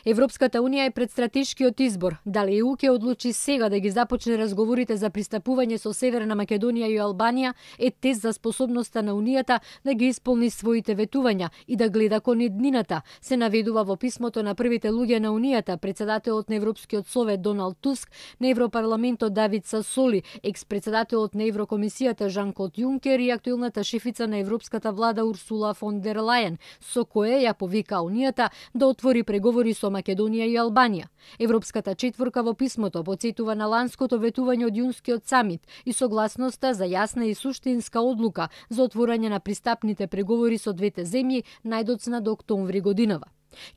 Европската унија е пред стратешкиот избор. Дали ЕУ ќе одлучи сега да ги започне разговорите за пристапување со Северна Македонија и Албанија е тест за способноста на Унијата да ги исполни своите ветувања и да гледа кон иднината, се наведува во писмото на првите луѓе на Унијата, председателот на Европскиот совет Доналд Туск, на Европарламентот Давид Сасоли, екс-председателот на Еврокомисијата Жан-Клод Јункер и актуелната шефица на Европската влада Урсула фон дер Лајен, со кое ја повика Унијата да отвори преговори со Македонија и Албанија. Европската четворка во писмото потсетува на ланското ветување од јунскиот самит и согласноста за јасна и суштинска одлука за отворање на пристапните преговори со двете земји најдоцна до октомври годинава.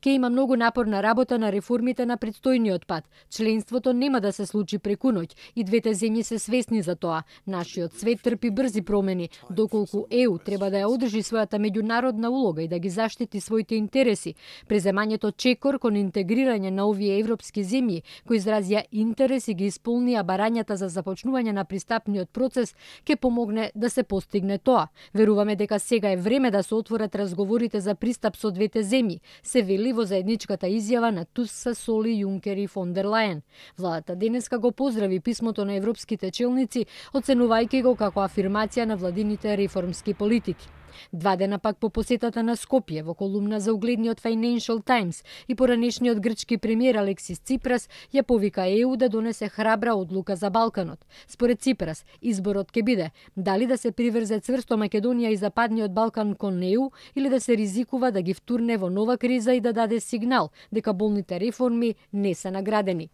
Ке има многу напорна работа на реформите на предстојниот пат. Членството нема да се случи преку ноќ и двете земји се свесни за тоа. Нашиот свет трпи брзи промени, доколку ЕУ треба да ја одржи својата меѓународна улога и да ги заштити своите интереси. Преземањето чекор кон интегрирање на овие европски земји, кои изразија интерес и ги исполнија барањата за започнување на пристапниот процес, ќе помогне да се постигне тоа. Веруваме дека сега е време да се отворат разговорите за пристап со двете земји, се вели во заедничката изјава на Туск, Сасоли, Јункер и фон дер Лајен. Владата денеска го поздрави писмото на европските челници, оценувајќи го како афирмација на владините реформски политики. 2 дена пак по посетата на Скопје, во колумна за угледниот Financial Times и поранешниот грчки премиер Алексис Ципрас ја повика ЕУ да донесе храбра одлука за Балканот. Според Ципрас, изборот ќе биде дали да се приврзе цврсто Македонија и Западниот Балкан кон ЕУ или да се ризикува да ги втурне во нова криза и да даде сигнал дека болните реформи не се наградени.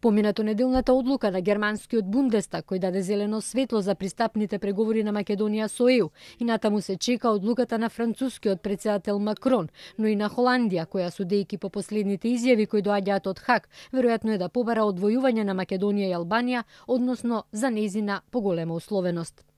Поминато неделната одлука на германскиот Бундестаг, кој даде зелено светло за пристапните преговори на Македонија со ЕУ, и натаму се чека одлуката на францускиот претседател Макрон, но и на Холандија, која судејќи по последните изјави кои доаѓаат од Хаг, веројатно е да побара одвојување на Македонија и Албанија, односно за нејзина поголема условеност.